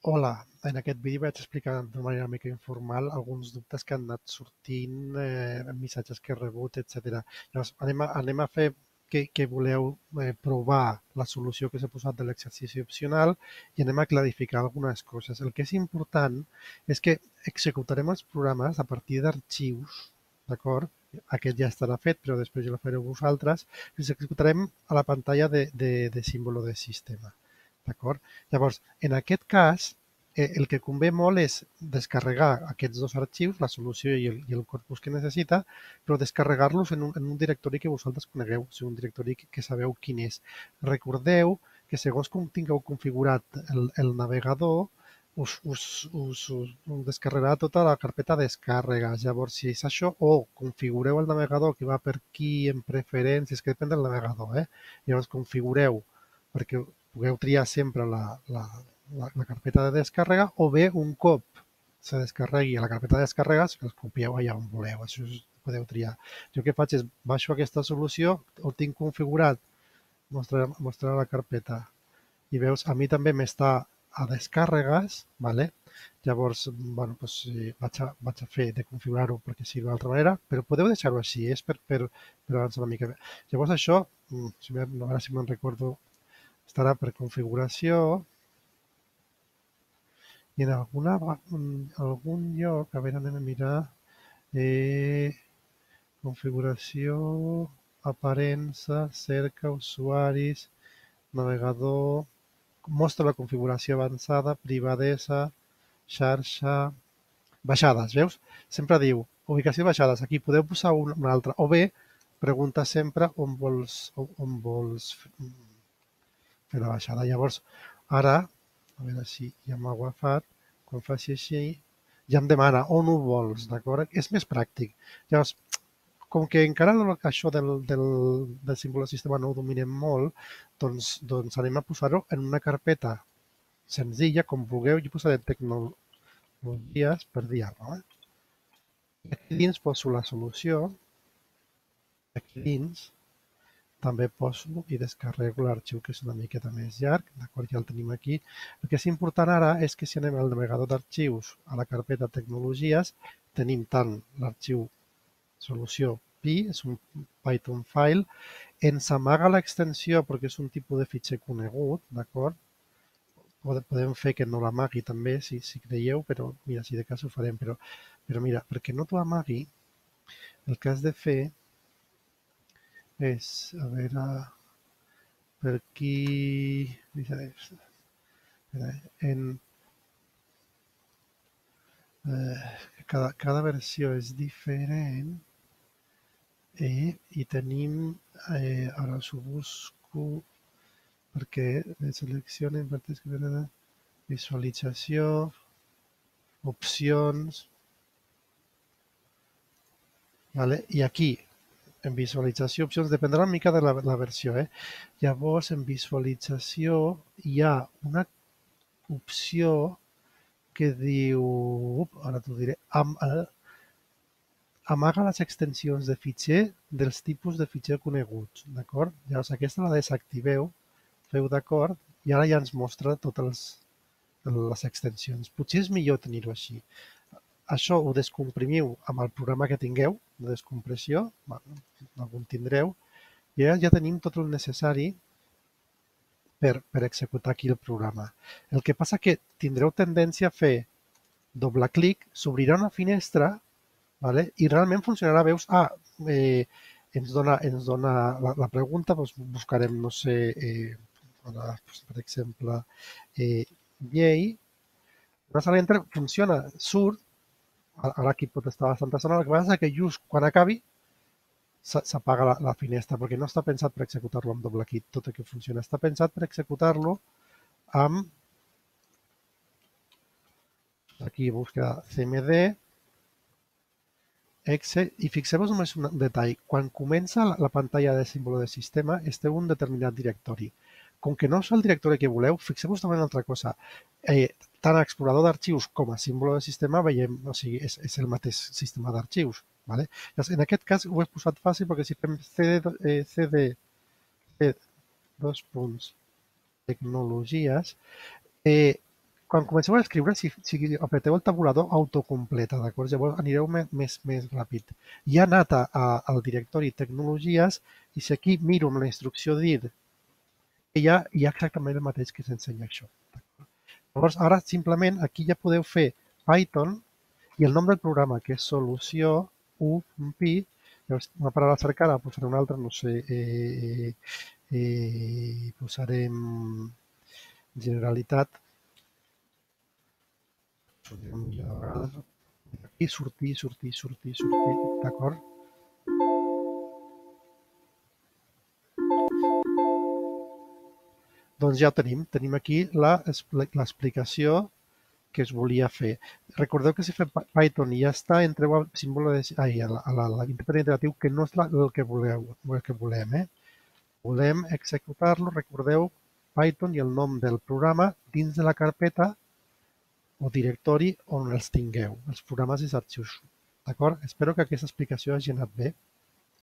Hola, en aquest vídeo vaig explicar de manera una mica informal alguns dubtes que han anat sortint, missatges que he rebut, etc. Llavors, anem a fer que voleu provar la solució que s'ha posat de l'exercici opcional i anem a clarificar algunes coses. El que és important és que executarem els programes a partir d'arxius, d'acord? Aquest ja estarà fet, però després ja el fareu vosaltres. Els executarem a la pantalla de símbolo de sistema. D'acord? Llavors, en aquest cas, el que convé molt és descarregar aquests dos arxius, la solució i el corpus que necessita, però descarregar-los en un directori que vosaltres conegueu, o sigui, un directori que sabeu quin és. Recordeu que segons com tingueu configurat el navegador, us descarregarà tota la carpeta descàrregues. Llavors, si és això, o configureu el navegador que va per aquí en preferències, que depèn del navegador, llavors configureu perquè pugueu triar sempre la carpeta de descàrrega o bé un cop se descarregui a la carpeta de descàrregues, que els copieu allà on voleu. Això podeu triar. Jo el que faig és baixo aquesta solució, ho tinc configurat, mostrar la carpeta i veus, a mi també m'està a descàrregues, ¿vale? Llavors, bueno, doncs, vaig a fer de configurar-ho perquè sigui d'una altra manera, però podeu deixar-ho així, és per avançar una mica. Llavors això, a veure si me'n recordo, estarà per configuració i en algun lloc, a veure, anem a mirar, configuració, aparença, cerca, usuaris, navegador, mostra la configuració avançada, privadesa, xarxa, baixades, veus? Sempre diu ubicació de baixades, aquí podeu posar una altra, o bé pregunta sempre on vols fer la baixada. Llavors, ara, a veure si ja m'ha agafat, quan faci així, ja em demana on ho vols, d'acord? És més pràctic. Llavors, com que encara això del símbol de sistema no ho dominem molt, doncs anem a posar-ho en una carpeta senzilla, com vulgueu. Jo posaré tecnologies per dir-ho. Aquí dins poso la solució, aquí dins també poso i descarrego l'arxiu que és una miqueta més llarg, d'acord, ja el tenim aquí. El que és important ara és que si anem al navegador d'arxius a la carpeta tecnologies, tenim tant l'arxiu solució pi, és un Python file, ens amaga l'extensió perquè és un tipus de fitxer conegut, d'acord? Podem fer que no l'amagui també, si creieu, però mira, si de cas ho farem, però mira, perquè no t'ho amagui, el que has de fer és, a veure, per aquí, en cada versió és diferent i tenim, ara us ho busco, perquè selecciona, visualització, opcions, vale? I aquí, en visualització, opcions, dependrà una mica de la versió. Llavors, en visualització hi ha una opció que diu, ara t'ho diré, amaga les extensions de fitxer dels tipus de fitxer coneguts, d'acord? Llavors aquesta la desactiveu, feu d'acord, i ara ja ens mostra totes les extensions. Potser és millor tenir-ho així. Això ho descomprimiu amb el programa que tingueu de descompressió, algun tindreu, i ja tenim tot el necessari per executar aquí el programa. El que passa que tindreu tendència a fer doble clic, s'obrirà una finestra, vale? I realment funcionarà, veus, ens dona la pregunta, doncs buscarem, no sé, per exemple, llei, funciona, surt, ara aquí pot estar bastanta estona, el que passa és que just quan acabi s'apaga la finestra, perquè no està pensat per executar-lo amb doble clic, tot el que funciona. Està pensat per executar-lo amb, aquí busca CMD, exe, i fixeu-vos només un detall. Quan comença la pantalla de símbolo de sistema, esteu en un determinat directori. Com que no és el directori que voleu, fixeu-vos també una altra cosa. Tant a explorador d'arxius com a símbolo de sistema veiem, o sigui, és el mateix sistema d'arxius. Vale? En aquest cas ho he posat fàcil perquè si fem cd dos punts tecnologies, Quan comenceu a escriure, si apreteu el tabulador, autocompleta, d'acord? Llavors anireu més ràpid. Ja he anat al directori tecnologies i si aquí miro amb la instrucció dir, hi ha exactament el mateix que s'ensenya això. Llavors, ara simplement aquí ja podeu fer Python i el nom del programa, que és solució UMPI, llavors una paraula cercada, posaré una altra, no sé, posarem Generalitat, i sortir, d'acord? Doncs ja ho tenim aquí l'explicació que es volia fer. Recordeu que si fem Python i ja està, entreu al símbol a l'interpret interactiu, que no és el que volem. Volem executar-lo, recordeu, Python i el nom del programa dins de la carpeta o directori on els tingueu, els programes i els arxius. D'acord? Espero que aquesta explicació hagi anat bé.